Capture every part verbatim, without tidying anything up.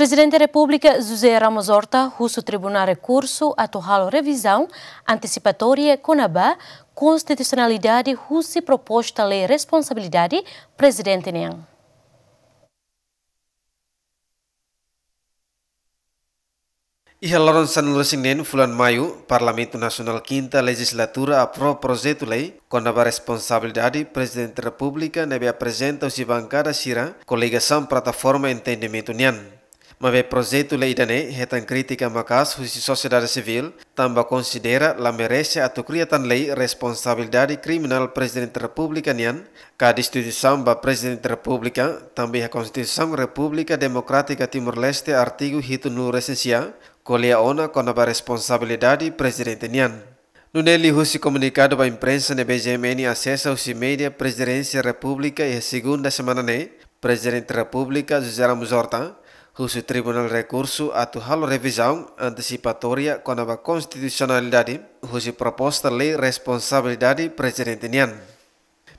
Prezidente Repúblika José Ramos Horta husu Tribunál Rekursu atu halo revizaun antesipatória kona-ba konstitusionalidade husi proposta lei responsabilidade prezidente nian. Iha loron sanulu-resin-neen fulan Maiu, Parlamentu Nasionál kinta lejizlatura aprova projetu lei kona-ba responsabilidade Prezidente Repúblika ne'ebé aprezenta husi bankada sira koligasaun Plataforma Entendimentu nian. Maibé projetu lei ida-ne'e hetan krítika maka'as husi sosiedade sivíl, tanba konsidera la merese atu kria tan lei responsabilidade kriminál Prezidente Repúblika nian, ka destituisaun ba Prezidente Repúblika, tanba iha Konstituisaun Repúblika Demokrátika Timor-Leste artigu hitunulu-resin-sia, ko'alia ona kona-ba responsabilidade prezidente nian. Nune'e liuhusi komunikadu ba imprensa ne'ebé G M N asesa husi média Prezidénsia Repúblika iha segunda semana ne'e, Prezidente Repúblika José Ramos Horta husu Tribunál Rekursu atu halo revizaun antesipatória kona-ba konstitusionalidade husi proposta lei responsabilidade prezidente nian.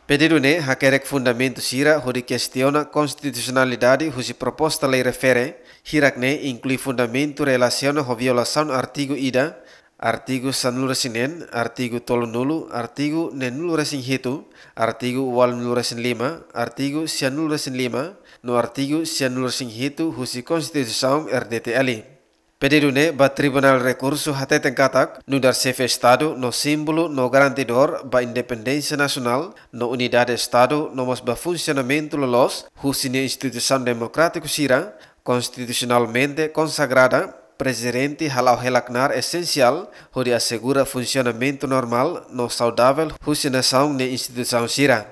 Pedidu ne'e hakerek fundamentu sira hodi kestiona konstitusionalidade husi proposta lei refere, hirak ne'e inklui fundamentu relasiona ho violasaun artigu ida, artigu sanulu-resin-neen, artigu tolunulu, artigu neenulu-resin-hitu, artigu ualunulu-resin-lima, artigu sianulu-resin-lima, no artigu sianulu-resin-hitu husi Konstituisaun R D T L. Pedidu ne'e ba Tribunál Rekursu hateten katak, nu'udar xefe Estadu no símbolu no garantidór ba independénsia nasionál no unidade Estadu no mós ba funsionamentu loloos husi nia instituisaun demokrátiku sira, konstitusionalmente konsagrada, Prezidente hala'o hela knaar esensiál hodi asegura funsionamentu normál no saudavel husi nasaun nia instituisaun sira.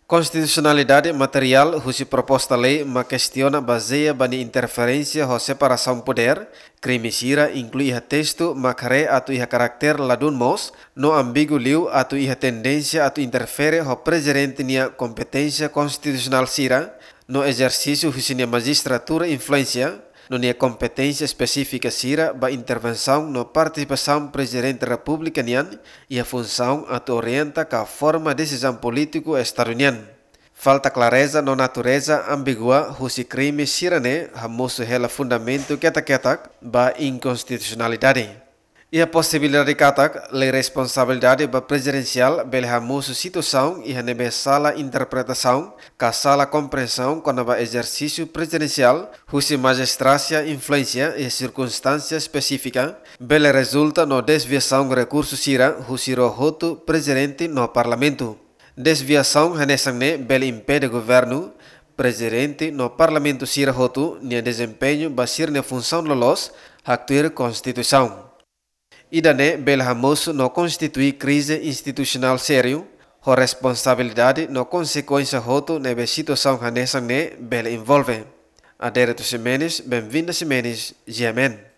Konstitusionalidade materiál husi proposta lei mak kestiona bazeia ba nia interferénsia ho separasaun podér, krime sira inklui iha testu mak haree atu iha karakter ladún moos, no ambíguu liu atu iha tendénsia atu interfere ho prezidente nia kompeténsia konstitusionál sira, no ezersísiu husi nia majistratura influénsia, no nia kompeténsia espesífika sira ba intervensaun no partisipasaun Prezidente Repúblika nian iha funsaun atu orienta ka forma desizaun polítiku Estadu nian. Falta klareza no natureza ambígua husi krime sira-ne'e hamosu hela fundamentu ketak-ketak ba inkonstitusionalidade. Iha posibilidade katak lei responsabilidade ba prezidensiál bele hamosu situasaun iha ne'ebé sala interpretasaun ka sala komprensaun kona-ba ezersísiu prezidensiál husi majistrásia influénsia iha sirkunstánsia espesífika, bele rezulta no dezviasaun rekursu sira husi ró hotu prezidente no parlamentu. Dezviasaun hanesan ne'e bele impede governu, prezidente no parlamentu sira hotu nia dezempeñu ba sira-nia funsaun loloos, haktuir konstituisaun. Ida-ne'e bele hamosu no konstitui krize institusionál sériu, ho responsabilidade no konsekuénsia hotu ne'ebé situasaun hanesan ne'e bele envolve. Adérito Ximenes, Benvinda Ximenes, G M N.